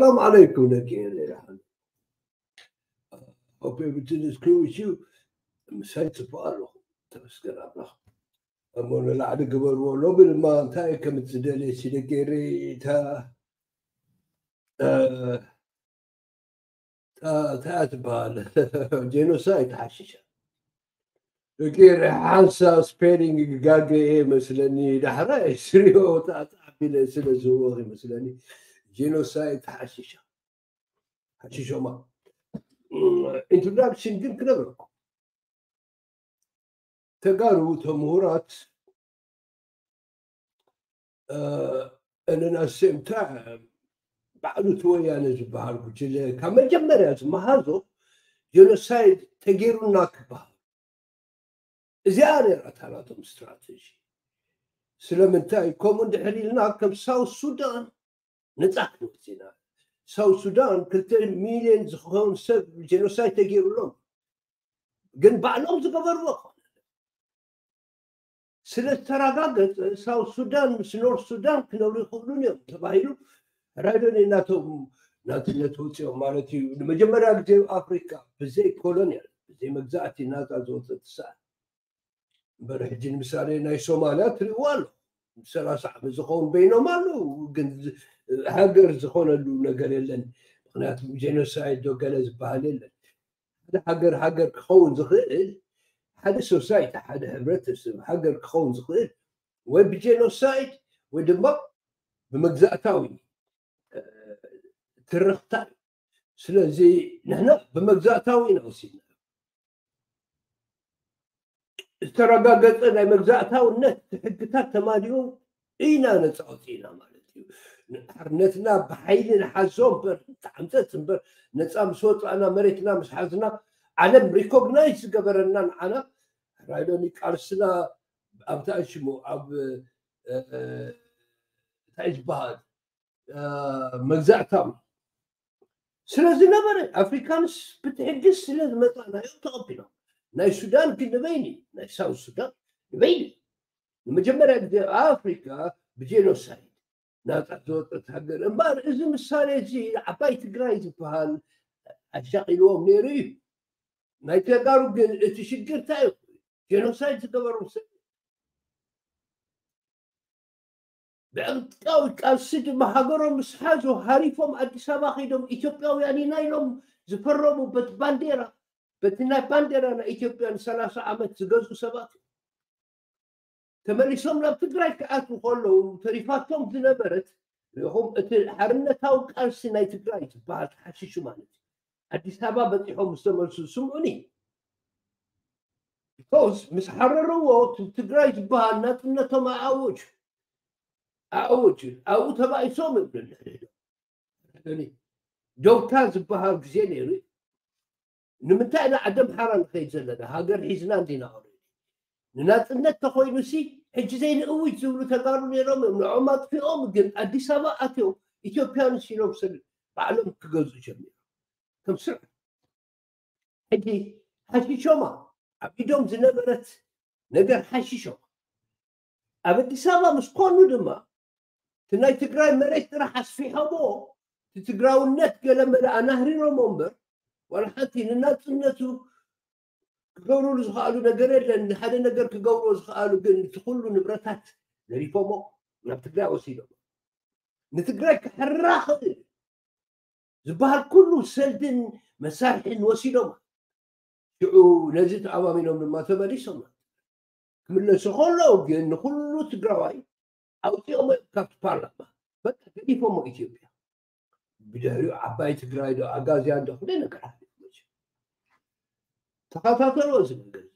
ሰላም ዓለይኩም ደቂ ኤረይ ደሓን። Hope everything is cool with you. ምሳይ ጽቡቕ ኣለኹ። ተመስገን ኣምላኽ። እሞ ንላዕሊ ግበርዎ። ሎሚ ድማ እንታይ ከም እትደልየ ሲ ደቂ ኤረይ እታ፣ እ፣ እታ፣ እታ ትበሃል ጄኖሳይድ ተሓሽሻ። ደቂ ኤረይ ሓንሳብ ስፔሊንግ ክጋገ እየ መስለኒ። ዳሕራይ ስሪኦ ተኣቢለ ስለ ዝህወኽ ይመስለኒ። ጄኖሳይድ ተሓሽሻ። ሓሽሾማ። ኢንትሮዳክሽን ግን ክነግረኩም። ተጋሩ፣ እቶም ምሁራት፣ እ፣ and then at the same time፣ ባዕሉ እቲ ወያነ ዝበሃል ጉጅለ ካብ መጀመርያ ዝመሃዞ ጄኖሳይድ ተገይሩና ክበሃል። እዚኣ ነይራ እታ ናቶም ስትራተጂ። ስለምንታይ ከምኡ እንድሕር ኢልና ከም ሳውት ሱዳን ነጻ ክንወጽእ ኢና። ሳውት ሱዳን ክልተ ሚልዮን ዝኸውን ሰብ ጄኖሳይድ ተገይሩሎም፣ ግን ባዕሎም ዝገበርዎ ኣይኮነን። ስለ ዝተረጋገጸ ሳውት ሱዳን ምስ ኖርት ሱዳን ክነብሩ ይኽእሉን እዮም ተባሂሉ። ራይዶኒ እናቶም ናጽነት ወጺኦም ማለት እዩ። ንመጀመርያ ግዜ ኣብ ኣፍሪካ ብዘይ ኮሎኒያል፣ ብዘይ መግዛእቲ ናጻ ዝወጸት ሰዓት። እምበር ሕጂ ንምሳሌ ናይ ሶማልያ ትርእይዋ ኣሎ። ሰላሳ ዓመት ዝኸውን በይኖም ኣለዉ፣ ግን ዝ-፣ ሃገር ዝኾነሉ ነገር የለን። ምኽንያቱ ጄኖሳይድ ዶ ገለ ዝበሃል የለን። ሓደ ሃገር ሃገር ክኸውን ዝኽእል፣ ሓደ ሶሳይቲ፣ ሓደ ሕብረተሰብ ሃገር ክኸውን ዝኽእል ወይ ብጄኖሳይድ ወይ ድማ ብመግዛእታዊ፣ እ፣ ትርኽታ እዩ። ስለዚ ንሕና ብመግዛእታዊ ኢና ወሲድና። ዝተረጋገጸ ናይ መግዛእታውነት ሕግታት ተማሊኡ ኢና ነጻ ወጺእና ማለት እዩ። ሓርነትና ብሓይሊ ንሓዞ እምበር፣ ተዓምጸት እምበር፣ ነጻ ምስ ወጻእና፣ መሬትና ምስ ሓዝና፣ ዓለም ሪኮግናይዝ ዝገበረና ንዓና፣ ራይዶኒ ቃልስና ኣብታ ሽሙ ኣብ፣ እ፣ እ፣ እንታይ ዝበሃል፣ እ፣ መግዛእታዊ ስለ ዝነበረ፣ ኣፍሪካንስ ብትዕግስቲ ስለ ዝመጻእናዮም ተቐቢሎም። ናይ ሱዳን ግን ንበይኒ፣ ናይ ሳውት ሱዳን ንበይኒ። ንመጀመርያ ግዜ ኣብ ኣፍሪካ ብጄኖሳይድ ናጻ ዝወጸት ሃገር። እምበኣር እዚ ምሳሌ እዚ ዓባይ ትግራይ ዝበሃል ኣሻቒልዎም ነይሩ እዩ። ናይ ተጋሩ ግን እቲ ሽግር እንታይ እዩ? ጄኖሳይድ ዝገበሮም ሰብ ብዕጥቃዊ ቃልሲ ድማ ሃገሮም ምስ ሓዙ ሃሪፎም ኣዲስ ኣበባ ከይዶም ኢትዮጵያውያን ኢና ኢሎም ዝፈረሙ በቲ ባንዴራ፣ በቲ ናይ ባንዴራ ናይ ኢትዮጵያ ንሰላሳ ዓመት ዝገዝኡ ሰባት እዮም። ተመሊሶም ናብ ትግራይ ክኣትዉ ከለዉ ተሪፋቶም ዝነበረት፣ ርኢኹም፣ እቲ ሓርነታዊ ቃልሲ ናይ ትግራይ ዝበሃል ተሓሽሹ ማለት እዩ። ኣዲስ ኣበባ በፂሖም ምስ ተመልሱ ስምዑኒ። ቢኮዝ ምስ ሓረርዎ እቲ ትግራይ ዝበሃል ናፅነቶም ኣኣወጁ። ኣኣወጁ። ኣብኡ ተባኢሶም እዮም ንሕድሕዶም። ዶብታ ዝበሃል ግዜ ነይሩ። ንምንታይ ኢና ዓዲ ኣምሓራ ንኸይድ ዘለና? ሃገር ሒዝና እንዲና ኦልሬዲ። ንናፅነት ተኾይኑሲ ሕጂ ዘይንእውጅ ዝብሉ ተጋሩ ነይሮም እዮም። ንዖም ኣጥፊኦም ግን ኣዲስ ኣበባ ኣትዮም ኢትዮጵያንስ ኢሎም ሰብ ባዕሎም ክገዝኡ ጀሚሮም። ከም ስርዓት። ሕጂ ሓሺሾማ ኣብ ኢዶም ዝነበረት ነገር ሓሺሾማ። ኣብ ኣዲስ ኣበባ ምስ ኮኑ ድማ እቲ ናይ ትግራይ መሬት ጥራሕ ኣስፊሖሞ፣ እቲ ትግራውነት ገለ መለ ኣናህሪሮሞ እምበር፣ ዋላ ሓንቲ ንናፅነቱ ክገብሩሉ ዝኸኣሉ ነገር የለን። ንሓደ ነገር ክገብርዎ ዝኸኣሉ ግን እቲ ኩሉ ንብረታት ዘሪፎሞ ናብ ትግራይ ወሲዶም። ንትግራይ ክሕራ ክእል ዝበሃል ኩሉ ሰልድን መሳርሒን ወሲዶም። ሽዑ ነዚ ተኣማሚኖም ድማ ተመሊሶም። ክምለሱ ከለዉ ግን ንኩሉ ትግራዋይ ኣውፂኦሞ ካብቲ ፓርላማ። በቃ ገዲፎሞ ኢትዮጵያ። ብድሕሪኡ ዓባይ ትግራይ ዶ ኣጋዝያን ዶ ክንደይ ነገር ሓሊፉ መቸም። ተኸታተልዎ እዚ ነገር እዚ።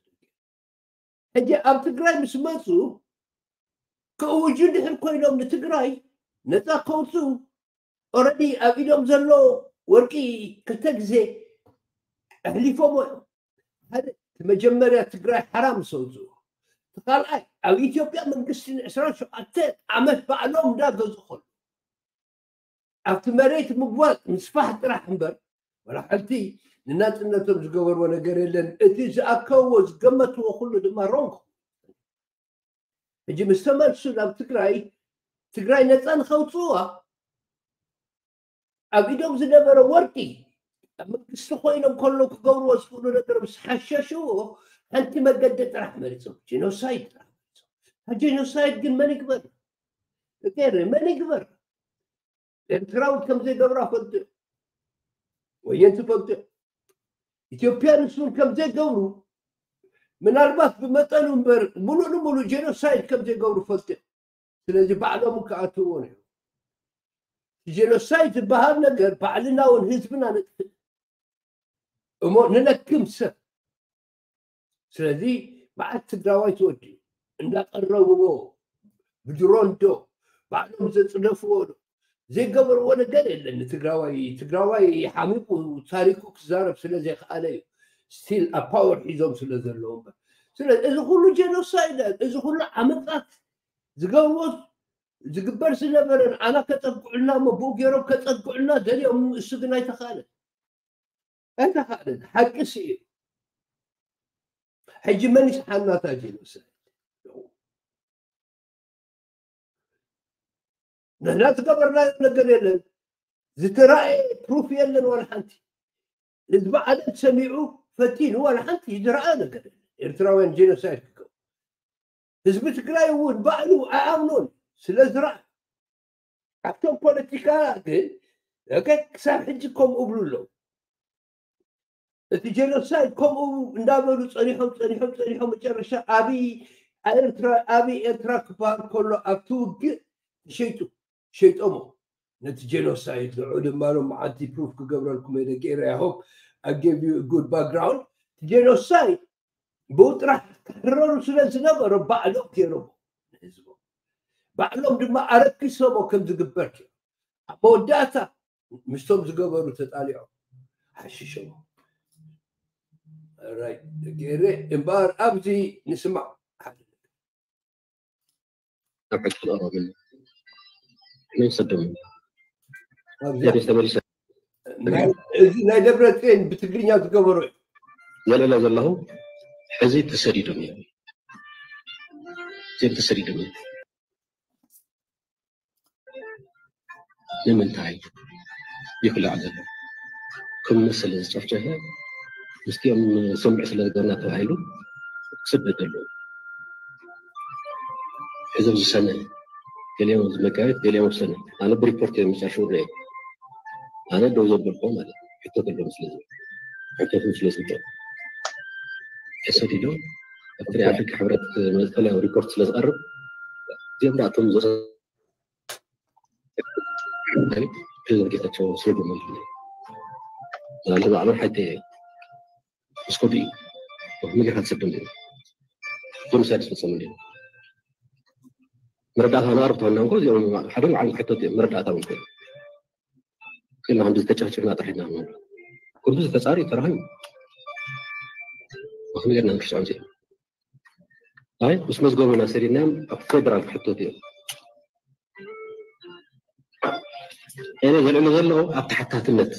ሕጂ ኣብ ትግራይ ምስ መፁ ክእውጁ እንድሕር ኮይኖም ንትግራይ ነፃ ከውፅኡ ኦረዲ ኣብ ኢዶም ዘሎ ወርቂ ክልተ ግዜ ኣሕሊፎሞ እዮም። ሓደ እቲ መጀመርያ ትግራይ ሓራ ምስ ኣውፅኡ፣ እቲ ካልኣይ ኣብ ኢትዮጵያ መንግስቲ ንዕስራን ሸውዓተ ዓመት ባዕሎም እንዳገዝኡ ከለዉ ኣብቲ መሬት ምግዋፅ ምስፋሕ ጥራሕ እምበር ዋላ ሓንቲ ንናፅነቶም ዝገበርዎ ነገር የለን። እቲ ዝኣከብዎ ዝገመትዎ ኩሉ ድማ ሮንግ። ሕጂ ምስ ተመልሱ ናብ ትግራይ፣ ትግራይ ነፃ ንኸውፅእዋ ኣብ ኢዶም ዝነበረ ወርቂ ኣብ መንግስቲ ኮይኖም ከሎ ክገብርዎ ዝኽእሉ ነገር ምስ ሓሸሽዎ ሓንቲ መገዲ ጥራሕ መሪፆም ጄኖሳይድ ጥራሕ መሪፆም። ጄኖሳይድ ግን መን ይግበር? መን ይግበር? ኤርትራዊ ከም ዘይገብራ ፈልጡ። ወየንቲ ፈልጡ። ኢትዮጵያ ንሱን ከም ዘይገብሩ ምናልባት ብመጠኑ እምበር ሙሉእ ንሙሉእ ጄኖሳይድ ከም ዘይገብሩ ፈልጡ። ስለዚ ባዕሎም ክኣትዎ ነው። ጄኖሳይድ ዝበሃል ነገር ባዕልና እውን ህዝብና ነጥፍእ እሞ ንለክም ሰብ። ስለዚ መዓት ትግራዋይ ተወዲኡ እንዳቀረብዎ ብድሮን ዶ ባዕሎም ዘፅደፍዎ ዶ ዘይገበርዎ ነገር የለን። ትግራዋይ ትግራዋይ ሓሚቁ ታሪኩ ክዛረብ ስለ ዘይከኣለ እዩ ስቲል ኣብ ፓወር ሒዞም ስለ ዘለዉ እምበር። ስለ እዚ ኩሉ ጄኖሳይድ እዚ ኩሉ ዓመፃት ዝገብርዎ ዝግበር ዝነበረ ንዓና ከፀግዑልና እሞ ብኡ ገይሮም ከፀግዑልና ደልዮም እሱ ግን ኣይተኻእለን ኣይተኻእለን። ሓቂ ስኢኑ ሕጂ መን ይስሓናታ ጄኖሳይድ? ንሕና ዝገበርናዮ ነገር የለን። ዝተራእየ ፕሩፍ የለን ዋላ ሓንቲ። ህዝቢ ዓለም ሰሚዑ ፈቲኑ ዋላ ሓንቲ ዝረኣ ነገር የለን። ኤርትራውያን ጄኖሳይድ ክገብሩ ህዝቢ ትግራይ እውን ባዕሉ ኣይኣምኖን ስለ ዝረኣ ኣብቶም ፖለቲካ ግን ክሳብ ሕጂ ከምኡ እብሉ ኣለዉ። እቲ ጄኖሳይድ ከምኡ እንዳበሉ ፀኒሖም ፀኒሖም ፀኒሖም መጨረሻ ኣብይ ኤርትራ ኣብይ ኤርትራ ክበሃል ከሎ ኣብቲ ውግእ ተሸይጡ ሸይጦሞ ነቲ ጄኖሳይድ ንዑ ድማ ሎም መዓልቲ ፕሩፍ ክገብረልኩም እየ ደቂ ኤርትራ ያሆብ ኣገቢዩ ጉድ ባክግራውንድ ጄኖሳይድ ብኡ ጥራሕ ክሕረሩ ስለ ዝነበሮ ባዕሎም ገይሮሞ ንህዝቦም ባዕሎም ድማ ኣረኪሶሞ ከም ዝግበር ገይሮም ኣብ መወዳእታ ምስቶም ዝገበሩ ተጣሊዖም ሓሽሾም ራይ ገይረ እምበኣር ኣብዚ ንስማዕ ሓደ ኣብ ሕጂ ክቐረብን መን ሰዶም ኣብዚ ተመሊሰ እዚ ናይ ደብረ ጽዮን ብትግርኛ ዝገበሩ ዘለለ ዘለኹ ሕዚ ተሰዲዶም እዮም እዚኦም ተሰዲዶም እዮም ንምንታይ ይኽላዕ ዘሎ ከም መሰለ ዝጨፍጨፈ ምስቲኦም ስምዕ ስለ ዝገርና ተባሂሉ ክስደድ ኣለዎ ሕዞም ዝሰነ ገሊኦም ዝመጋየት ገሊኦም ዝሰነ ኣነ ብሪፖርት እዮም ዝጨርሹ ርአ ኣነ ደው ዘበልኮ ማለት ሕቶ ከሎም ስለዚ ሕቶትም ስለ ዝግበር ተሰዲዶም ኣብ ትሪኣ ደቂ ሕብረት መዝተላ ሪፖርት ስለ ዝቐርብ እዚኦም ዳእቶም ፕሬዚደንት ጌታቸው ስለ ደመልኩ ናለ ባዕሎም ሓይተ እስኮዲ ምልካ ትሰደም ዲዩ ጀኖሳይድ ዝፈጸሙ ዲዩ መረዳእታ ናር ተሆና እንኮ እዚኦም ሓደ ዓለም ክሕተት እዮም መረዳእታ እውን ኮይኑ ክልና ክንዲ ዝተጨፍጭፍና ጥራሕ ኢና ንብል ኩሉ ዝተጻሪ ተራኺቡ ወክም ጌርና ንክስዖም ዚኦም ኣይ ምስ መዝገቡና ሰዲድናዮም ኣብ ፌደራል ክሕተቱ እዮም ኤነ ዘልዕሉ ዘሎ ኣብ ተሓታትነት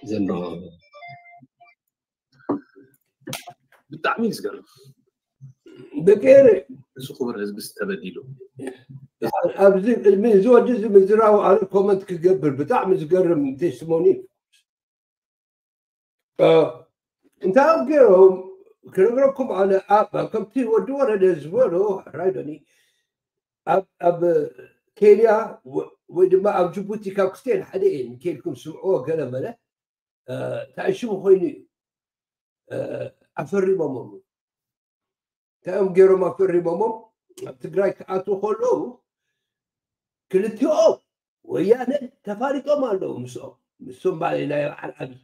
ዘሎ ብጣዕሚ እዩ ዝገርም ደቂ ኤረ እዚ ክቡር ህዝቢ ዝተበዲሉ ኣብዚ ቅድሚ እዚ ወዲ እዚ ምዝራቡ ኣነ ኮመንት ክገብር ብጣዕሚ ዝገርም ቴስቲሞኒ እንታይ ኣብ ገይሮም ክነግረኩም ኣነ ኣብ ከምቲ ወዲ ወረደ ዝበሎ ሕራይ ዶኒ ኣብ ኬንያ ወይ ድማ ኣብ ጅቡቲ ካብ ክስቴን ሓደ እየን ከይድኩም ስምዕዎ ገለ መለ እንታይ ሽሙ ኮይኑ እዩ ኣፈሪሞሞም እንታይ እዮም ገይሮም ኣፈሪሞሞም ኣብ ትግራይ ክኣትዉ ከለዉ ክልቲኦም ወያነ ተፋሊጦም ኣለዉ ምስኦም ምስም ባሌ ናይ በዓል ዓብዪ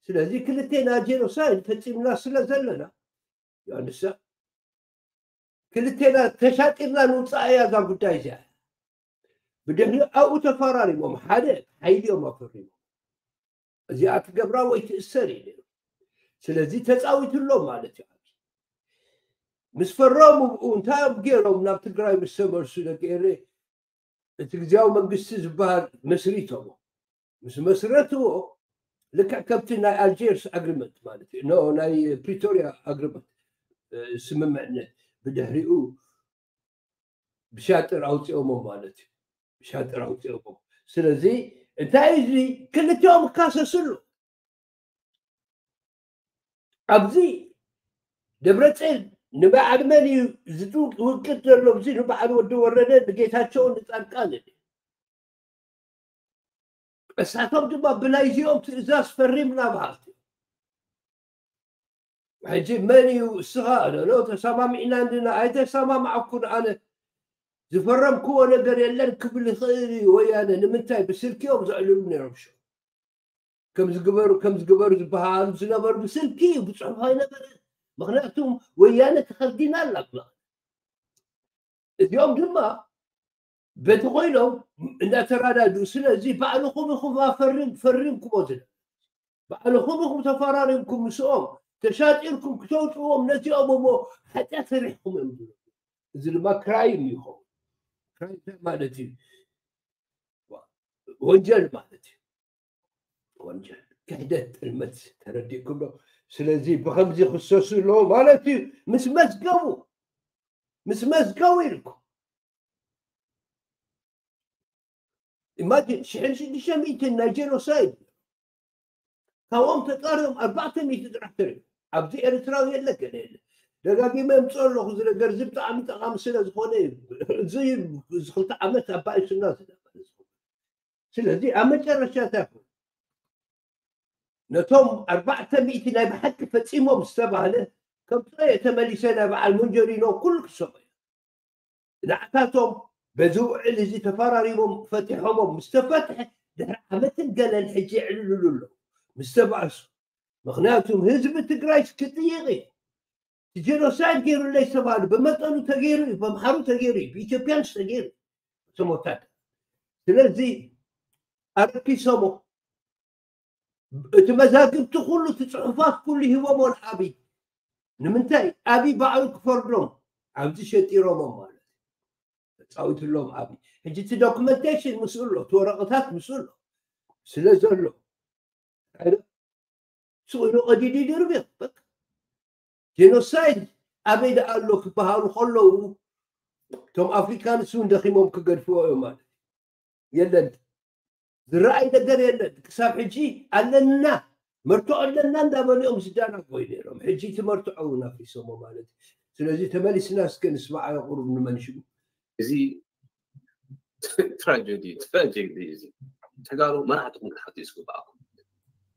ስለዚ ክልቴና ጄኖሳይድ ፈፂምና ስለ ዘለና ዮሃንሳ ክልቴና ተሻጢርና ንውፃእ እያ እዛ ጉዳይ እዚኣ ብድሕሪ ኣብኡ ተፈራሪሞም ሓደ ሓይሊ እዮም ኣፈሪሞም እዚኣ ትገብራ ወይ ትእሰር እዩ ነይሩ ስለዚ ተፃዊትሎም ማለት እዩ ምስ ፈረሙ ብኡ እንታይ እዮም ገይሮም ናብ ትግራይ ምስ ተመልሱ ደቂ ኤረ እቲ ግዜያዊ መንግስቲ ዝበሃል መስሪቶሞ ምስ መስረትዎ ልክዕ ከምቲ ናይ ኣልጀርስ ኣግሪመንት ማለት እዩ ናይ ፕሪቶሪያ ኣግሪመንት ስምምዕነት ብድሕሪኡ ብሻጥር ኣውፅኦሞ ማለት እዩ ብሻጥር ኣውፅኦሞ ስለዚ እንታይ እዚ ክልቲኦም ክካሰስሉ ኣብዚ ደብረፅዮን ንበዓል መን እዩ ዝውቅጥ ዘሎ? እዚ ንበዓል ወዲ ወረደ ንጌታቸውን ንፃድቃን እዩ። እሳቶም ድማ ብናይዚኦም ትእዛዝ ፈሪምና በሃልቲ። ሕጂ መን እዩ እስኻ ሎ ተሰማሚዕና እንድና ኣይተሰማማዕኩን ኣነ ዝፈረምክዎ ነገር የለን ክብል ይኽእል እዩ ወያነ። ንምንታይ ብስልኪ እዮም ዘዕልሉ ነይሮም ሸው ከም ዝግበሩ ከም ዝግበሩ ዝበሃሉ ዝነበሩ ብስልኪ እዩ ብፅሑፍ ኣይነበረ። ምክንያቱም ወያነ ተኸልዲና ኣላ ብመ እዚኦም ድማ በቲ ኮይኖም እንዳተራዳድኡ ስለዚ ባዕልኹም ኢኹም ኣፈሪም ፈሪምኩሞ ዝነ ባዕልኹም ኢኹም ተፈራሪምኩም ምስኦም ተሻጢርኩም ክተውፅዎም ነዚኦም እሞ ሓጢኣት ሰሪሕኩም እዮም ዝብሉ። እዚ ድማ ክራይም ይኸውን። ክራይም እንታይ ማለት እዩ? ወንጀል ማለት እዩ። ወንጀል ክሕደት ጥልመት ተረዲእኩም ዶ? ስለዚ ብከምዚ ክሰሱ ኣለዎ ማለት እዩ። ምስ መዝገቡ ምስ መዝገቡ ኢልኩም ኢማጂን ሽሕን ሽዱሽተ ሚእትን ናይ ጀኖሳይድ ካብኦም ተፃሪዮም ኣርባዕተ ሚእቲ ጥራሕ ተሪዩ ኣብዚ ኤርትራዊ የለ ገለ የለ ደጋጊመ የምፅኦ ኣለኹ እዚ ነገር እዚ ብጣዕሚ ጠቃሚ ስለ ዝኾነ እዩ እዚ እዚ ክልተ ዓመት ኣባይ ሱና ዝነበረ ስለዚ ኣብ መጨረሻ እንታይ ኮይኑ ነቶም ኣርባዕተ ሚእቲ ናይ ብሓቂ ፈፂሞም ዝተባህለ ከም ጥረ ተመሊሰ ናይ በዓል መንጀሪኖ ኩሉ ክሰሙ ንዓታቶም በዚ ውዕል እዚ ተፈራሪሞም ፈቲሖሞም ምስ ተፈትሐ ድሕሪ ዓመትን ገለን ሕጂ የዕልልሉ ኣለዉ ምስ ተባእሱ ምክንያቱም ህዝቢ ትግራይ ክጥይቅ እዩ ጀኖሳይድ ገይሩለይ ዝተባህሉ ብመጠኑ ተገይሩ እዩ በምሓሩ ተገይሩ እዩ ብኢትዮጵያንስ ተገይሩ እቶም ወታደር ስለዚ ኣረኪሶሞ እቲ መዛግብቲ ኩሉ እቲ ፅሑፋት ኩሉ ሂቦሞ ንኣብይ ንምንታይ ኣብይ ባዕሉ ክፈርዶም ኣብዚ ሸጢሮሞም ማለት ተፃዊትሎም ኣብይ ሕጂ እቲ ዶክመንቴሽን ምስኡ ኣሎ እቲ ወረቀታት ምስኡ ኣሎ ስለ ዘሎ ስኢሉ ቀዲዱ ይድርብዮ ጀኖሳይድ ኣበይ ደኣ ኣሎ ክበሃሉ ከለዉ እቶም ኣፍሪካንስ እውን ደኺሞም ክገድፍዎ እዮም ማለት የለን ዝረኣይ ነገር የለን ክሳብ ሕጂ ኣለና መርትዖ ኣለና እንዳበሉ እዮም ዝዳናጎዩ ነይሮም ሕጂ እቲ መርትዖ እውን ኣፍሪሶሞ ማለት እዩ ስለዚ ተመሊስና እስከ ንስማዓዮ ቁሩብ ንመንሽጉ እዚ ትራጀዲ ትራጀዲ እዚ ተጋሩ መራሕትኩም ክትሓቱ ዝግባኣኩም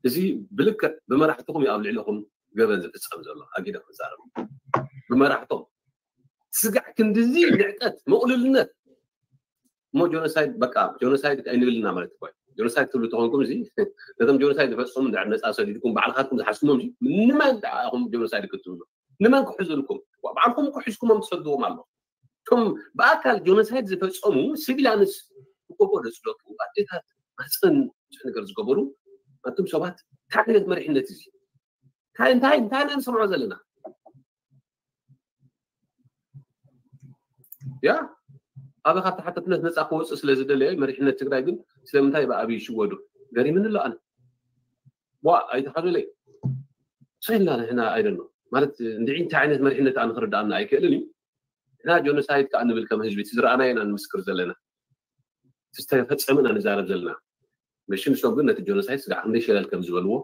እዚ ብልክዕ ብመራሕትኩም እዩ ኣብ ልዕለኹም ገበን ዝፍፀም ዘሎ ኣጊደ ክዛረብ ብመራሕቶም ስጋዕ ክንድዚ ንዕቀት ምቕልልነት እሞ ጆኖሳይድ በቃ ጆኖሳይድ ኣይንብልና ማለት እኮ ጆኖሳይድ ትብሉ ተኾንኩም እዚ ነቶም ጆኖሳይድ ዝፈፀሙ እንድሕር ነፃ ሰዲድኩም ባዕልኻትኩም ዝሓዝኩሞም እዚ ንመን ደኣ ኢኹም ጆኖሳይድ ክትብሉ ንመን ክሕዙልኩም ባዕልኩም እኮ ሒዝኩሞም ትሰድዎም ኣሎ እቶም ብኣካል ጆኖሳይድ ዝፈፀሙ ሲቪላንስ እኮ ደፅለቱ ኣዴታት ማፀን ብዙሕ ነገር ዝገበሩ ኣቱም ሰባት እንታይ ዓይነት መሪሕነት እዚ እንታይ እንታይ እንታይ ኢና ንሰምዖ ዘለና ያ ኣበ ካብ ተሓተትነት ነፃ ክወፅእ ስለ ዝደለየ መሪሕነት ትግራይ ግን ስለምንታይ ብኣብይ ይሽወዱ ገሪምኒ ኣሎ ኣነ ዋ ኣይተሓዙለይ ሰይልና ንሕና ኣይደሎ ማለት እንድዒ እንታይ ዓይነት መሪሕነት ኣነ ክርዳኣና ኣይክእልን እዩ ንሕና ጆኖሳይድ ከዓ ንብል ከም ህዝቢ እቲ ዝረኣናዮ ኢና ንምስክር ዘለና ዝተፈፀመ ኢና ንዛረብ ዘለና መሽም ሰብ ግን ነቲ ጆኖሳይድ ስጋዕ ክንደይ ሸለል ከም ዝበልዎ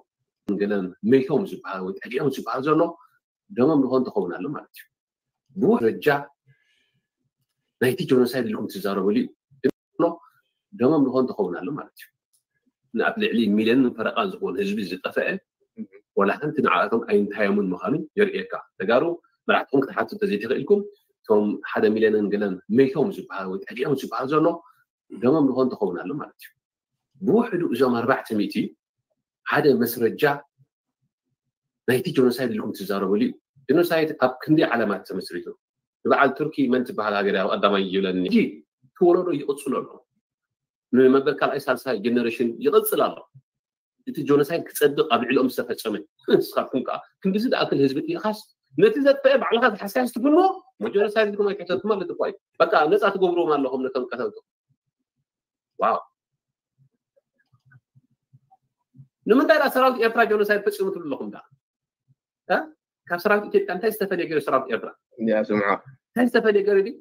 ገለ መይቶም ዝበሃል ወይ ጠጊዖም ዝበሃል ዘሎ ደሞም ዝኾን ትኸውን ኣሎ ማለት እዩ ብውሕ ደረጃ ናይቲ ጆኖሳይድ ኢልኩም ትዛረበሉ እዩ ደሞም ዝኾን ትኸውን ኣሎ ማለት እዩ ንኣብ ልዕሊ ሚልዮንን ፈረቓን ዝኾን ህዝቢ ዝጠፍአ ወላ ሓንቲ ንዓኣቶም ኣይንታዮምን ምዃኑ የርእየካ ተጋሩ መራሕትኩም ክትሓቱ ተዘይተኽኢልኩም እቶም ሓደ ሚልዮንን ገለን መይቶም ዝበሃል ወይ ጠጊዖም ዝበሃል ዘሎ ደሞም ዝኾን ትኸውን ኣሎ ማለት እዩ ብውሕዱ እዞም ኣርባዕተ ሚእቲ ሓደ መስረጃ ናይቲ ጆኖሳይድ ኢልኩም ትዛረበሉ እዩ ጆኖሳይድ ኣብ ክንደይ ዓለማት ተመስሪቱ ንበዓል ቱርኪ መን ትበሃል ሃገር ኣብ ቀዳማይ ይብለኒ ሕጂ እቲ ወለዶ ይቕፅሎ ኣሎ ንመበል ካልኣይ ሳልሳይ ጀነሬሽን ይቕፅል ኣሎ እቲ ጆኖሳይድ ክፀድቕ ኣብ ልዕሊኦም ዝተፈፀመ ንስኻትኩም ከዓ ክንዲዚ ዝኣክል ህዝቢ ጥኢኻስ ነቲ ዘጥፈአ ባዕልኻ ዝሓስያስ ትፍንዎ ጀኖሳይድ ኢልኩም ኣይትሕተቱ ማለት እኮ እዩ በቃ ነፃ ትገብርዎም ኣለኹም ነቶም ቀተልቱ ዋው ንምንታይ ዳ ሰራዊት ኤርትራ ጆኖሳይድ ፈፂሙ ትብሉ ኣለኹም ዳ ካብ ሰራዊት ኢትዮጵያ እንታይ ዝተፈለየ ገይሩ ሰራዊት ኤርትራ እንዲያ ስምዖ እንታይ ዝተፈለየ ገይሩ ድዩ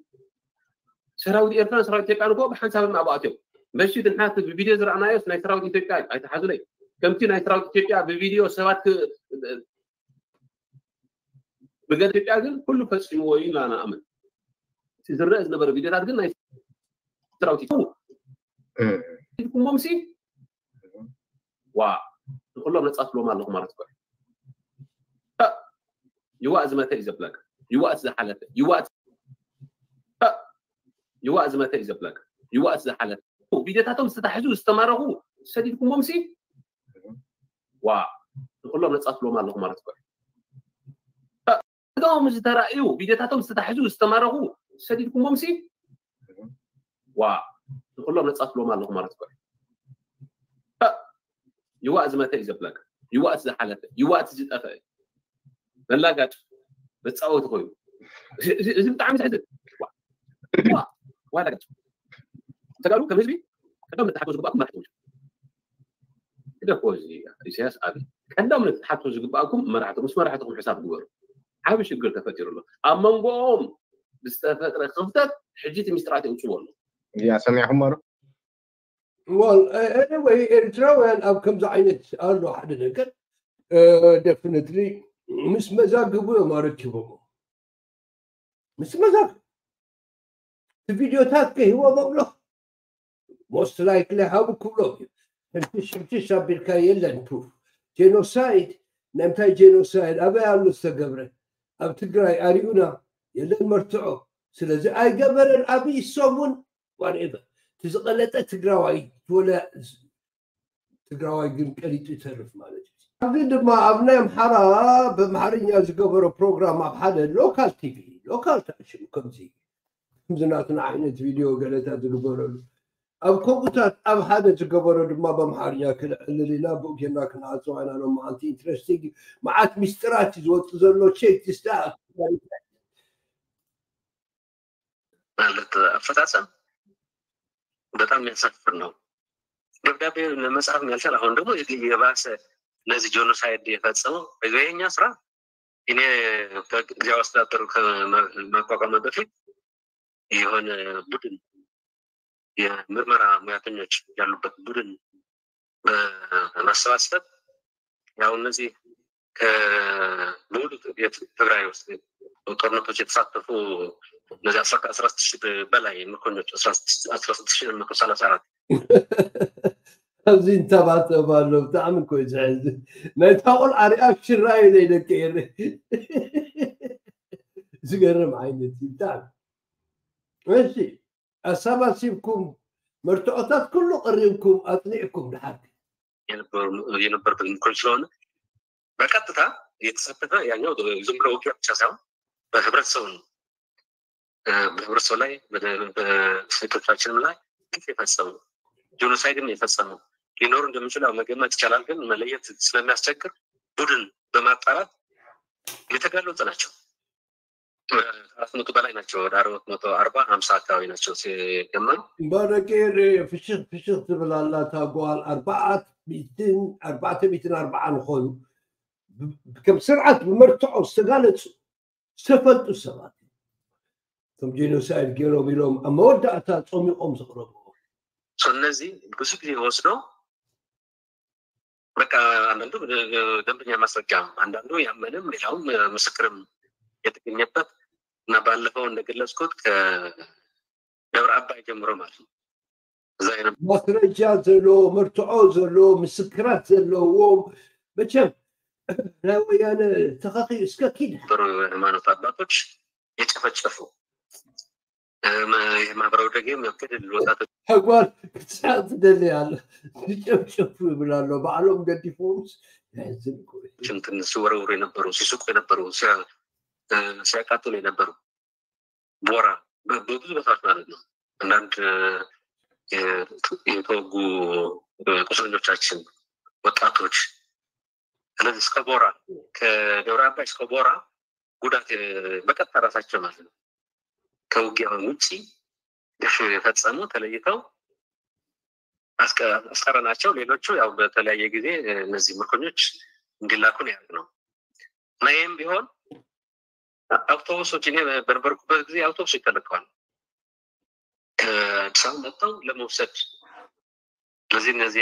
ሰራዊት ኤርትራ ሰራዊት ኢትዮጵያ ንኮ ብሓንሳብ ናብኣትዮም መሺ ድንሓት ብቪድዮ ዝረኣናዮስ ናይ ሰራዊት ኢትዮጵያ ኣይተሓዙለይ። ከምቲ ናይ ሰራዊት ኢትዮጵያ ብቪድዮ ሰባት ክ- ብገለ ኢትዮጵያ ግን ኩሉ ፈፂምዎ እዩ ኢና ንኣምን። እቲ ዝረአ ዝነበረ ቪድዮታት ግን ናይ ሰራዊት ኢትዮጵያ ኢልኩሞምሲ ዋ ንኩሎም ነፃ ትብሎም ኣለኹ ማለት እኮ እዩ። ይዋእ ዝመተ እዩ ዘብለካ። ይዋእ ዝሓለፈ ይዋእ ይዋእ ዝመተ እዩ ዘብለካ። ይዋእ ዝሓለፈ ቪድዮታቶም ዝተታሕዙ ዝተማረኹ ሰዲድኩሞምሲ ዋ ንኩሎም ነፃ ትብሎም ኣለኹ ማለት እኮ እዩ። ስጋኦም ዝተራእዩ ቪድዮታቶም ዝተታሕዙ ዝተማረኹ ሰዲድኩሞምሲ ዋ ንኩሎም ነፃ ትብሎም ኣለኹ ማለት እኮ እዩ። ይዋእ ዝመተ እዩ ዘብለካ። ይዋእ ዝሓለፈ ይዋእ ዝጠፈ መላጋጭ መፃወቲ ኮይኑ እዚ ብጣዕሚ ዘሕዝን። ዋላ ተጋሩ ከም ህዝቢ ቀደም ንተሓቶ ዝግባእኩም መራሕቲ ግደፎ። እዚ ኢሳያስ ኣብ ቀደም ንተሓቶ ዝግባእኩም መራሕቲ ምስ መራሕትኩም ሕሳብ ግበሩ። ዓብ ሽግር ተፈጢሩ ኣሎ ኣብ መንጎኦም ብዝተፈጥረ ክፍተት ሕጂ እቲ ሚስጥራት የውፅዎ ኣሎ። ያ ሰሚዕኩም ዶ? Well, anyway, ኤርትራውያን ኣብ ከምዚ ዓይነት ኣሎ ሓደ ነገር definitely ምስ መዛግቡ እዮም ኣረኪቦም። ምስ መዛግቡ እቲ ቪድዮታት ከሂቦም ኣሎ። Most likely ሃቡ ክብሎም እዩ። ሕንትሽ ሕንትሽ ኣቢልካ የለን proof። ጀኖሳይድ ናይ ምንታይ ጀኖሳይድ ኣበይ ኣሎ ዝተገብረ? ኣብ ትግራይ ኣሪኡና የለን መርትዖ። ስለዚ ኣይገበረን ኣብይ እሶም እውን whatever እቲ ዝቐለጠ ትግራዋይ ትወለ ትግራዋይ ግን ቀሊጡ ይተርፍ ማለት እዩ። ኣብዚ ድማ ኣብ ናይ ኣምሓራ ብኣምሓርኛ ዝገበሮ ፕሮግራም ኣብ ሓደ local TV local ታሽም ከምዚ ከምዚ ናትና ዓይነት ቪድዮ ገለታት ዝግበረሉ ኣብ ከምኡታት ኣብ ሓደ ዝገበሮ ድማ ብኣምሓርኛ ክነዕልል ኢና ብኡ ጌርና ክንዓፅዋ ኢና ሎም መዓልቲ interesting መዓት ሚስጥራት እዩ ዝወፅእ ዘሎ check this out። ማለት አፈጻጸም በጣም የሚያሳፍር ነው። ደብዳቤ ለመጻፍ ያልቻል አሁን ደግሞ የባሰ እነዚህ ጀኖሳይድ የፈጸመው የኛ ስራ እኔ ጊዜያዊ አስተዳደሩ ከማቋቋም በፊት የሆነ ቡድን የምርመራ ሙያተኞች ያሉበት ቡድን በማሰባሰብ ያው እነዚህ ከሙሉ ትግራይ ውስጥ ጦርነቶች የተሳተፉ እነዚህ አስራ ስድስት ሺህ በላይ ምርኮኞች አስራ ስድስት ሺህ መቶ ሰላሳ አራት ኣብዚ እንተባተብ ኣሎ ብጣዕሚ እኮ እዩ ዘሕዝን። ናይታ ቆልዓ ሪኣክሽን ራእዩ ዘይደቂ ኤረ ዝገርም ዓይነት እዩ ብጣዕሚ። እሺ ኣሰባሲብኩም መርትዖታት ኩሉ ቀሪብኩም ኣፅኒዕኩም ድሓር የነበሩበት ምርኮኝ ስለሆነ በቀጥታ የተሳተፈ ያኛው ዝም ብሎ ውጊያ ብቻ ሳይሆን በህብረተሰቡ ነው። በህብረተሰቡ ላይ በሴቶቻችንም ላይ ግፍ የፈጸሙ ጄኖሳይድም የፈጸሙ ሊኖሩ እንደሚችሉ ያው መገመት ይቻላል። ግን መለየት ስለሚያስቸግር ቡድን በማጣራት የተጋለጡ ናቸው። ከአራት መቶ በላይ ናቸው። ወደ አራት መቶ አርባ ሀምሳ አካባቢ ናቸው ሲገመቱ። እምበረቂ ፍሽኽ ፍሽኽ ትብል ኣላ እታ ጓል ኣርባዓት ሚእትን ኣርባዕተ ሚእትን ኣርባዓን ዝኾኑ ከም ስርዓት ብመርትዖ ዝተጋለፁ ዝተፈልጡ ሰባት ከም ጄኖሳይድ ገይሮም ኢሎም ኣብ መወዳእታ ፆሚቖም ዘቕረብዎ እነዚህ ብዙ ጊዜ ወስዶ በቃ አንዳንዱ ደንበኛ ማስረጃ አንዳንዱ ያመነም ሌላውም ምስክርም የተገኘበት እና ባለፈው እንደገለጽኩት ከደብረ አባይ ጀምሮ ማለት ነው እዛ ማስረጃ ዘለዎ መርትዖ ዘለዎ ምስክራት ዘለዎም መቸም ናይ ወያነ ተኸኺ እስከ ኪድ የነበሩ ሃይማኖት አባቶች የጨፈጨፉ የማህበራዊ ደገም ገደል ወጣቶች ተጓል ክትስሓቅ ትደሊ ኣሎ ዝጨፍጨፉ ይብል ኣሎ ባዕሎም ገዲፎምስ ያዝን እኮ እዩ። እንትን ሲወረውሩ የነበሩ ሲስቁ የነበሩ ሲያ- እ፣ ሲያቃጥሉ የነበሩ ቦራ በ- በብዙ ቦታዎች ማለት ነው። አንዳንድ እ፣ የ- የተወጉ እ፣ ቁስለኞቻችን ወጣቶች ስለዚህ እስከ ቦራ ከደብረ አባይ እስከ ቦራ ጉዳት እ፣ በቀጥታ ራሳቸው ማለት ነው ከውጊያ ውጭ ግፍ የፈጸሙ ተለይተው አስቀረናቸው። ሌሎቹ ያው በተለያየ ጊዜ እነዚህ ምርኮኞች እንዲላኩ ነው ያደረግነው እና ይህም ቢሆን አውቶቡሶች እኔ በነበርኩበት ጊዜ አውቶቡሶች ተልከዋል። ከአዲስ አበባ መጥተው ለመውሰድ ስለዚ ነዚ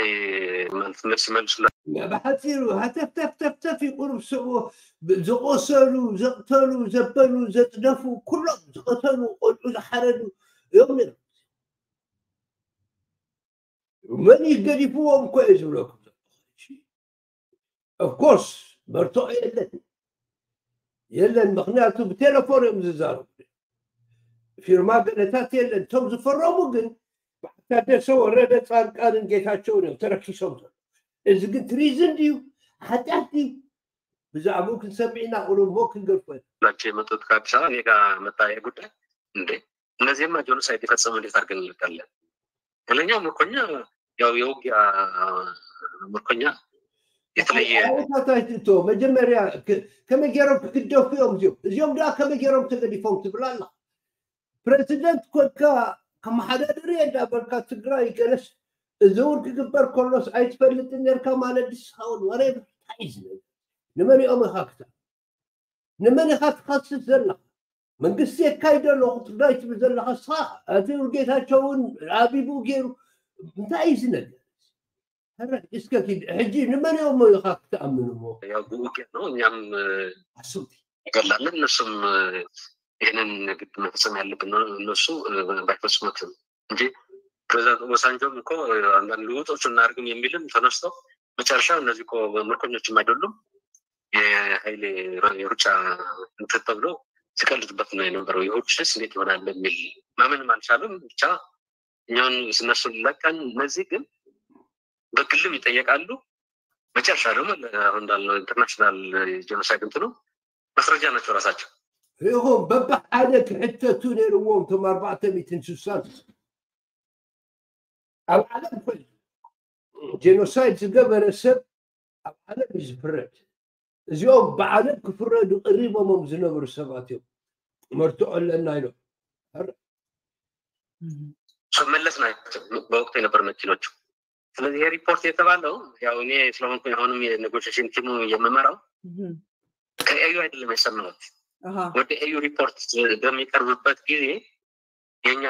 መልስ መልስ ይመልሱላ። ብሓፂሩ ሃተፍተፍተፍተፍ ይቁርብ ስዑ ዝቆሰሉ ዘቕተሉ ዘበሉ ዘፅደፉ ኩሎም ዝቐተሉ ቆልዑ ዝሓረዱ እዮም ነይሮም። መን እዩ ገዲፍዎም እኮ እዩ ዝብለኩም ዘሎ። ኦፍኮርስ መርትዖ የለን የለን፣ ምክንያቱ ብቴሌፎን እዮም ዝዛረቡ። ፊርማ ገለታት የለን። እቶም ዝፈረሙ ግን ብዓታደሰ ወረደ ፃድቃንን ጌታቸውን እዮም ተረኪሶም ዘሎ። እዚ ግን ትሪዝን ድዩ ሓጢኣት ድዩ? ብዛዕባኡ ክንሰምዕ ኢና፣ ቁሩብ ሞ ክንገድፎ ኢና። ናቸው የመጡት ከአዲስ አበባ እኔ ጋ መጣ ይሄ ጉዳይ እንዴ እነዚህማ ጆኖሳይድ የፈጸሙ እንዴት አድርገን እንልካለን? ሌላኛው ምርኮኛ ያው የውጊያ ምርኮኛ የተለየ ታታይቶ መጀመርያ ከመይ ገይሮም ክግደፉ እዮም እዚኦም እዚኦም ደኣ ከመይ ገይሮም ተገዲፎም ትብል ኣላ። ፕሬዚደንት ኮንካ ከመሓዳደሪ እንዳበልካ ትግራይ ገለስ እዚ እውን ክግበር ከሎስ ኣይትፈልጥን ነርካ ማለት ድስኻውን ወረ እንታይ እዩ ዝብል? ንመን እዮም ኢኻ ክታ ንመን ኢኻ ትኸስስ ዘለኻ? መንግስቲ የካይዶ ኣለኹ ትግራይ ትብል ዘለኻ እስኻ። ኣዚ ጌታቸው እውን ኣቢቡ ገይሩ እንታይ እዩ እዚ ነገር? ሕጂ ንመን እዮም ኢኻ ክትኣምንዎ? ያው ውጊያ ነው። እኛም አስብቲ እንገላለን፣ እነሱም ይህንን ግድ መፈጸም ያለብን ነው። እነሱ ባይፈጽሙትም እንጂ ፕሬዚዳንት ኦባሳንጆም እኮ አንዳንድ ልውጦች እናደርግም የሚልም ተነስቶ መጨረሻ እነዚህ እኮ ምርኮኞችም አይደሉም የኃይሌ የሩጫ እንትን ተብሎ ሲቀልድበት ነው የነበረው። የሁሉ ሽስ እንዴት ይሆናል በሚል ማመንም አልቻሉም። ብቻ እኛውን እነሱን ለቀን እነዚህ ግን በግልም ይጠየቃሉ። መጨረሻ ደግሞ አሁን እንዳልነው ኢንተርናሽናል ጀኖሳይድ እንትኑ ማስረጃ ናቸው ራሳቸው። ይኹም በብሓደ ክሕተቱ ነይርዎም እቶም ኣርባዕተ ሚእትን ስሳን ኣብ ዓለም ኮይኑ ጄኖሳይድ ዝገበረ ሰብ ኣብ ዓለም እዩ ዝፍረድ። እዚኦም ብዓለም ክፍረዱ ቅሪቦሞም ዝነበሩ ሰባት እዮም። መርትዖ ኣለና ኢሎም መለስ ናቸው በወቅቱ የነበሩ መኪኖቹ። ስለዚህ ይሄ ሪፖርት የተባለው ያው እኔ ስለሆንኩኝ አሁንም የኔጎሽሽን ቲሙ የምመራው ከኤዩ አይደለም የሰማሁት። ወደ ኤዩ ሪፖርት በሚቀርብበት ጊዜ የኛ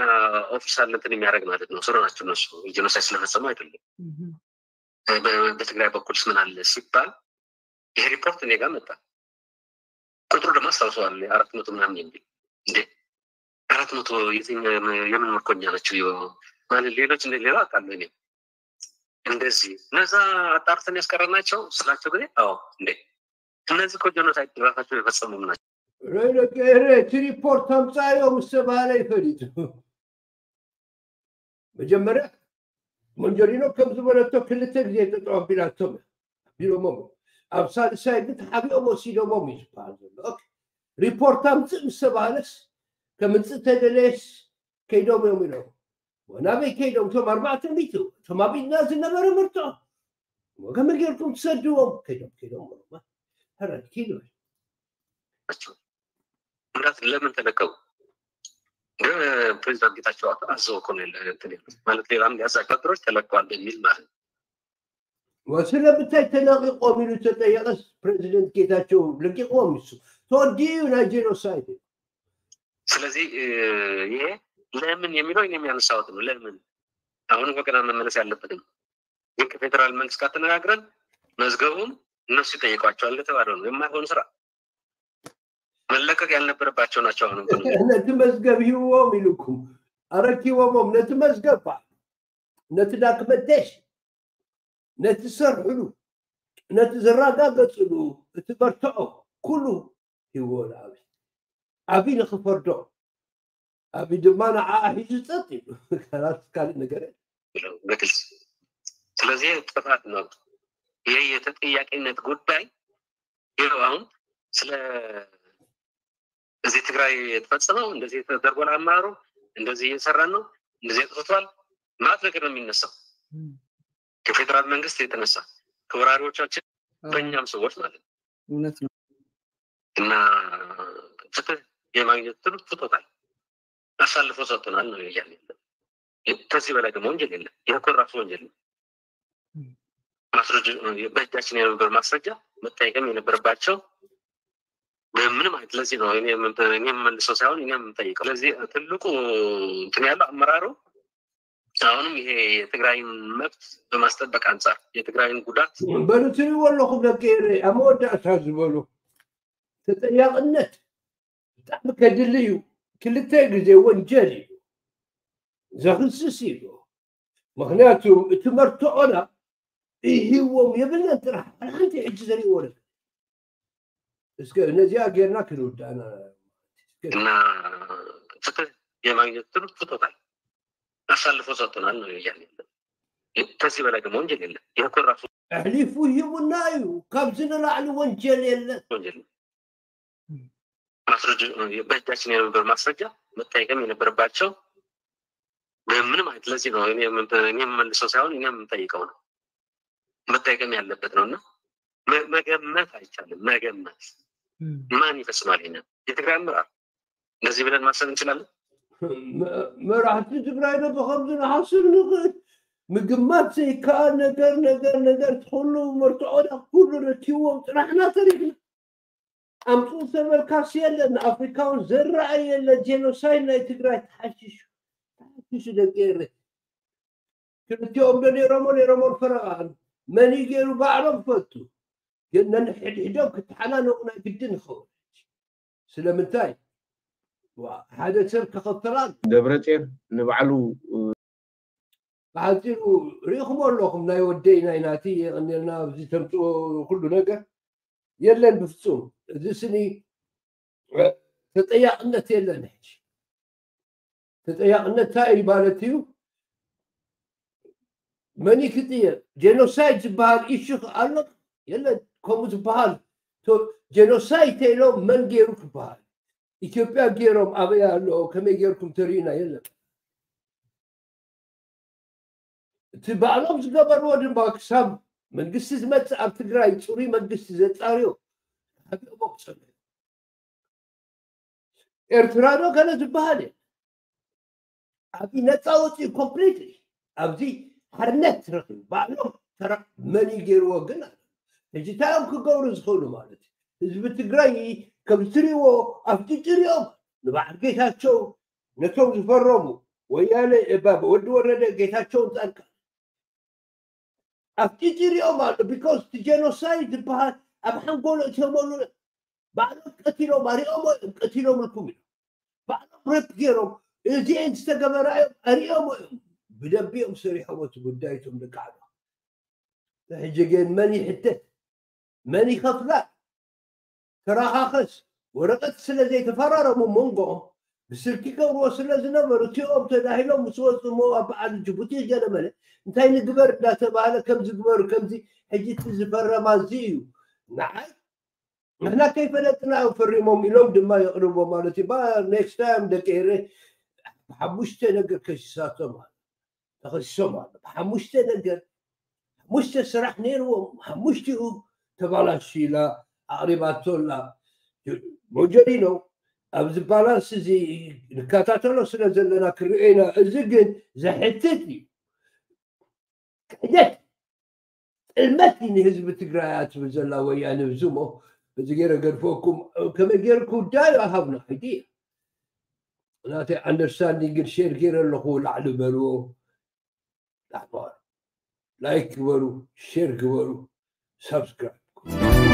ኦፊሻል እንትን የሚያደርግ ማለት ነው። ስሩ ናቸው እነሱ ጄኖሳይድ ስለፈጸሙ አይደለም። በትግራይ በኩልስ ምን አለ ሲባል ይሄ ሪፖርት እኔ ጋር መጣ። ቁጥሩ ደግሞ አስታውሰዋል አራት መቶ ምናምን የሚል እንዴ አራት መቶ የትኛ የምን ምርኮኛ ናቸው ማለት ሌሎች እንደ ሌላ አውቃለሁ እኔ እንደዚህ እነዛ አጣርተን ያስቀረናቸው ስላቸው ጊዜ አዎ እንዴ እነዚህ እኮ ጀኖሳይድ ራሳቸው የፈጸሙም ናቸው። እቲ ሪፖርት ኣምፃዮ ምስ ተባሃለ ይፈሊጡ መጀመርያ መንጀሪኖ ከም ዝበለቶ ክልተ ግዜ ጠጠው ኣቢላቶም ኣቢሎሞም ኣብ ሳልሳይ ግን ተሓቢኦም ወሲዶሞም እዩ ዝበሃል ዘሎ። ሪፖርት ኣምፅእ ምስ ተባሃለስ ከምፅእ ተደለየስ ከይዶም እዮም ኢሎም ናበይ ከይዶም እቶም ኣርባዕተ ሚእቲ እቶም ኣብ ኢድና ዝነበረ ምርቶ ከመይ ጌርኩም ትሰድዎም ከይዶም ከይዶም ሕረድ ኪድ ናቸው። ምክንያት ለምን ተለቀቁ? ግን ፕሬዚዳንት ጌታቸው አዘው እኮ ነው ማለት ሌላም ሊያዛቸው ወታደሮች ተለቀዋል በሚል ማለት ነው። ስለምንታይ ተለቂቆም ኢሉ ተጠየቀስ ፕሬዚደንት ጌታቸው ለቂቆም እሱ ተወዲኡ ናይ ጄኖሳይድ። ስለዚህ ይሄ ለምን የሚለው እኔ የሚያነሳሁት ነው። ለምን አሁን እኮ ገና መመለስ ያለበትም ግን ከፌዴራል መንግስት ጋር ተነጋግረን መዝገቡን እነሱ ይጠይቋቸዋል እንደተባለው ነው። የማይሆን ስራ መለቀቅ ያልነበረባቸው ናቸው። አሁን ነቲ መዝገብ ሂዎም ኢልኩም ኣረኪቦሞም ነቲ መዝገብ ነቲ ዳክመንቴሽን ነቲ ዝሰርሕሉ ነቲ ዘረጋገፅሉ እቲ መርትዖ ኩሉ ሂዎ ንኣብይ ኣብይ ንክፈርዶ ኣብይ ድማ ንዓኣ ሒዙ ፀጥ ኢሉ ካልእ ነገር በግልጽ ስለዚህ ጥፋት ነው። ይህ የተጠያቂነት ጉዳይ ይኸው አሁን ስለ እዚህ ትግራይ የተፈጸመው እንደዚህ ተደርጓል፣ አመራሩ እንደዚህ እየሰራን ነው፣ እንደዚህ አጥፍቷል ማለት ነገር ነው የሚነሳው። ከፌዴራል መንግስት የተነሳ ከወራሪዎቻችን በእኛም ሰዎች ማለት ነው። እውነት ነው። እና ፍትህ የማግኘት ትሉ ፍቶታል አሳልፎ ሰጥቶናል ነው እያለ ያለ። ከዚህ በላይ ደግሞ ወንጀል የለም። ይህ እኮ ራሱ ወንጀል ነው። ማስረጃ በእጃችን የነበረ ማስረጃ መጠየቅም የነበረባቸው በምንም አይነት ለዚህ ነው እኔ የምመልሰው ሳይሆን እኔ የምጠይቀው። ስለዚህ ትልቁ እንትን ያለው አመራሩ አሁንም ይሄ የትግራይን መብት በማስጠበቅ አንጻር የትግራይን ጉዳት በሉ ትሪእዎ ኣለኹም ደቂ ኤረይ ኣብ መወዳእታ ዝበሉ ተጠያቕነት ብጣዕሚ ከድሊ እዩ። ክልተ ግዜ ወንጀል እዩ ዘኽስስ እዩ። ምክንያቱ እቲ መርትዖና ይህዎም የብልናን ጥራሕ ሓንቲ ሕጂ ዘርእዎ ነገር እስከ ነዚኣ ጌርና ክንውዳእና እና ፍትህ የማግኘት ትሉ ፍቶታል አሳልፎ ሰጥቶናል ነው እያለ ያለ። ከዚህ በላይ ደግሞ ወንጀል የለም። ይህ እኮ ራሱ ኣሕሊፉ ሂቡና እዩ። ካብዚ ንላዕሊ ወንጀል የለን። ወንጀል ነው። ማስረጃ በእጃችን የነበረ ማስረጃ መጠየቅም የነበረባቸው በምንም አይነት ለዚህ ነው እኔ የምመልሰው ሳይሆን እኔ የምንጠይቀው ነው መጠየቅም ያለበት ነው። እና መገመት አይቻልም። መገመት ማን ይፈጽማል? ይሄንን የትግራይ አመራር እንደዚህ ብለን ማሰብ እንችላለን። መራሕቲ ትግራይ ዶ ብከምዚ ንሓስብ ንኽእል? ምግማት ዘይከኣል ነገር ነገር ነገር ኩሉ መርትዖና ኩሉ ረኪብዎም ጥራሕና ተሪፍና። ኣምፅኡ ዝተበልካስ የለን። ንኣፍሪካውን ዘረኣይ የለን። ጄኖሳይድ ናይ ትግራይ ተሓሽሹ ተሓሽሹ ደቂ ኤረ ክልቲኦም ዶ ነይሮሞ ነይሮሞ ፈረቓ መን እዩ ገይሩ ባዕሎም ፈቱ ግን ነንሕድሕዶም ክተሓናነቑ ናይ ግድን ይኸውን። ስለምንታይ ሓደ ሰብ ከኸፍላል ደብረፅዮን ንባዕሉ ብሓፂሩ ርኢኹሞ ኣለኹም ናይ ወደይ ናይ ናቲ የቐኒልና ኣብዚ ተምፅኦ ኩሉ ነገር የለን ብፍፁም እዚ ስኒ ተጠያቕነት የለን ሕጂ ተጠያቕነት እንታይ እዩ ማለት እዩ መን ክጥየቅ ጄኖሳይድ ዝበሃል ኢሹ ኣሎ የለን ከምኡ ዝበሃል ጄኖሳይድ ተኢሎም መን ገይሩ ክበሃል ኢትዮጵያ ገይሮም ኣበይ ኣሎ ከመይ ገይርኩም ተርእዩና የለን እቲ ባዕሎም ዝገበርዎ ድማ ክሳብ መንግስቲ ዝመፅእ ኣብ ትግራይ ፅሩይ መንግስቲ ዘፃርዮ ሃቢኦም ኣቁፀሉ ኤርትራ ዶ ገለ ዝበሃል እየ ኣብዚ ነፃ ወፂኡ ኮምፕሊትሊ ኣብዚ ሓርነት ረኪቡ ባዕሎም ተራ መን እዩ ገይርዎ ግን ሕጂ እንታይ እዮም ክገብሩ ዝኽእሉ ማለት እዩ ህዝቢ ትግራይ ከም ትሪእዎ ኣፍጢጡ ሪኦም ንበዓል ጌታቸው ነቶም ዝፈረሙ ወያነ ወዲ ወረደ ጌታቸውን ፃድቃን ኣፍጢጡ ሪኦም ኣሎ ቢኮዝ እቲ ጀኖሳይድ ዝበሃል ኣብ ሓንጎሎ እትዮመሉ ባዕሎም ቀቲሎም ኣሪኦሞ እዮም ቀቲሎምልኩም እዮም ባዕሎም ሬፕ ገይሮም እዚአን ዝተገበራ እዮም ኣሪኦሞ እዮም ብደንቢ እዮም ሰሪሖም እቲ ጉዳይ እቶም ደቂ ዓዶ ሕጂ ግን መን ይሕተት መን ይኸፍላ ተረኻኸስ ወረቐት ስለ ዘይተፈራረሙ መንጎኦም ብስልኪ ገብርዎ ስለ ዝነበሩ እቲኦም ተዳሂሎም ምስ ወፁ እሞ ኣብ በዓል ጅቡቲ ገለመለ እንታይ ንግበር እንዳተባሃለ ከም ዝግበሩ ከምዚ ሕጂ እቲ ዝፈረማ እዚ እዩ ንዓይ ንሕና ከይፈለጥና እዮም ፈሪሞም ኢሎም ድማ የቕርቦ ማለት እዩ ኔክስት ታይም ደቂ ኤረ ብሓሙሽተ ነገር ከሲሳቶም ኣሎ ተኸሲሶም ኣሎ ብሓሙሽተ ነገር ሓሙሽተ ስራሕ ነይርዎም ሓሙሽቲኡ ተባላሽ ኢላ ኣቕሪባቶ ኣላ ሞጀሪኖ ኣብዚ ባላንስ እዚ ንከታተሎ ስለ ዘለና ክርኤና እዚ ግን ዘሕትት እዩ ክሕደት ጥልመት ንህዝቢ ትግራይ ኣትብል ዘላ ወያነ ብዙ ሞ እዚ ገይረ ገድፈኩም ከመይ ገይሩ ክውዳዩ ኣሃብና ኣይዲ ናተይ ኣንደርስታንዲንግ ግን ሼር ገይረ ኣለኹ ላዕሊ በልዎ ላዕሊ ላይክ ግበሩ ሼር ግበሩ ሳብስክራይብ